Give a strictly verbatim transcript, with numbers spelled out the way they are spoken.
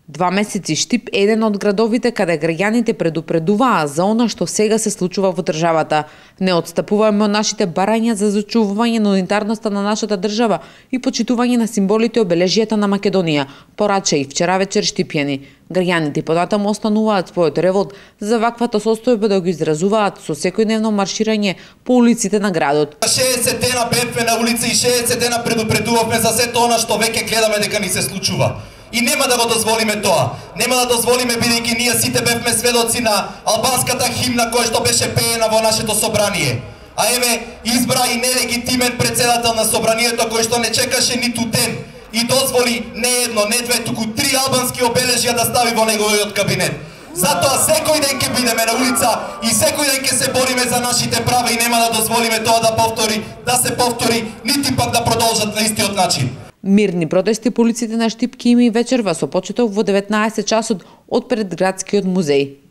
Два месеци Штип е еден од градовите каде граѓаните предупредуваа за она што сега се случува во државата. Не отстапуваме од нашите барања за зачувување на унитарноста на нашата држава и почитување на символите и обележјата на Македонија, порача и вчера вечер штипјани. Граѓаните понатаму остануваат својот револт за ваквата состојба да го изразуваат со секојдневно марширање по улиците на градот. шеесет дена бевме на улица и шеесет дена предупредувавме за сето она што веќе гледаме дека ни се случува. И нема да го дозволиме тоа. Нема да дозволиме, бидејќи ние сите бевме сведоци на албанската химна која што беше пеена во нашето собрание. А еве избра и нелегитимен председател на собранието кој што не чекаше ниту ден и дозволи не едно, не две, туку три албански обележја да стави во неговиот кабинет. Затоа секој ден ќе бидеме на улица и секој ден ќе се бориме за нашите права и нема да дозволиме тоа да повтори, да се повтори, нити пак да продолжат на истиот начин. Мирни протести по улиците на Штип ќе има и вечерва со почеток во деветнаесет часот од пред градскиот музеј.